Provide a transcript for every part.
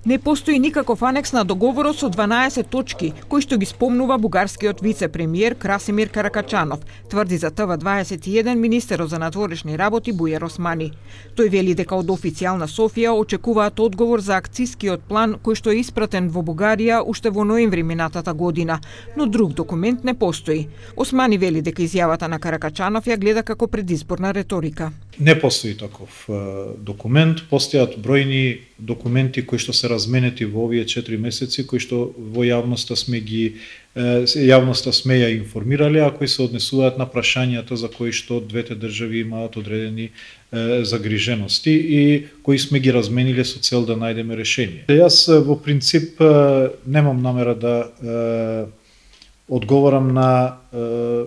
Не постои никаков анекс на договорот со 12 точки, кој што ги спомнува бугарскиот вице-премиер Красимир Каракачанов, тврди за ТВ21 министерот за надворешни работи Бујар Османи. Тој вели дека од официјална Софија очекуваат одговор за акцискиот план кој што е испратен во Бугарија уште во ноември минатата година, но друг документ не постои. Османи вели дека изјавата на Каракачанов ја гледа како предизборна реторика. Не постои таков документ, постојат бројни документи кои што се разменети во овие 4 месеци, кои што во јавноста сме ја информирале, а кои се однесуваат на прашањата за кои што двете држави имаат одредени загрижености и кои сме ги размениле со цел да најдеме решение. Јас во принцип немам намера да одговорам на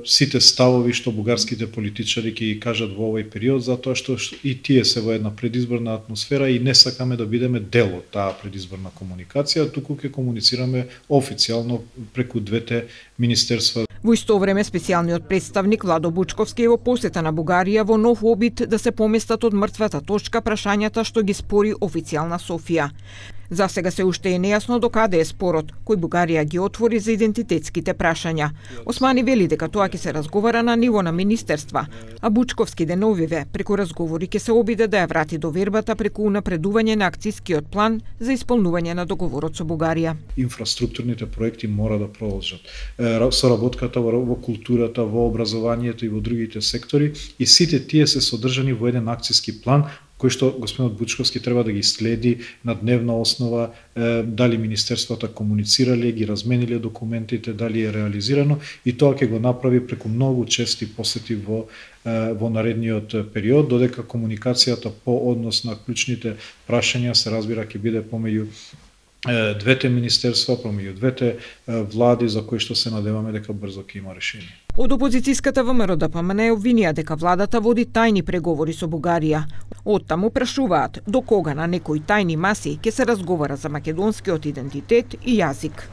сите ставови што бугарските политичари ќе ги кажат во овој период, затоа што и тие се во една предизборна атмосфера и не сакаме да бидеме дел од таа предизборна комуникација, туку ќе комуницираме официјално преку двете министерства. Во исто време, специјалниот представник Владо Бучковски е во посета на Бугарија во нов обид да се поместат од мртвата точка прашањата што ги спори официјална Софија. За сега се уште е нејасно до каде е спорот, кој Бугарија ги отвори за идентитетските прашања. Османи вели дека тоа ќе се разговара на ниво на министерства, а Бучковски деновиве преку разговори ќе се обиде да ја врати довербата преку унапредување на акцискиот план за исполнување на договорот со Бугарија. Инфраструктурните проекти мора да продолжат. Соработката во културата, во образованието и во другите сектори, и сите тие се содржани во еден акциски план кој што господинот Бучковски треба да ги следи на дневна основа, дали министерствата комуницирале, ги размениле документите, дали е реализирано, и тоа ќе го направи преку многу чести посети во наредниот период, додека комуникацијата по однос на клучните прашања се разбира ќе биде помеѓу двете министерства, помеѓу двете влади, за кои што се надеваме дека брзо ќе има решение. Од опозицијската ВМРО-ДПМН е обвинија дека владата води тајни преговори со Бугарија. Оттаму прашуваат до кога на некои тајни маси ќе се разговара за македонскиот идентитет и јазик.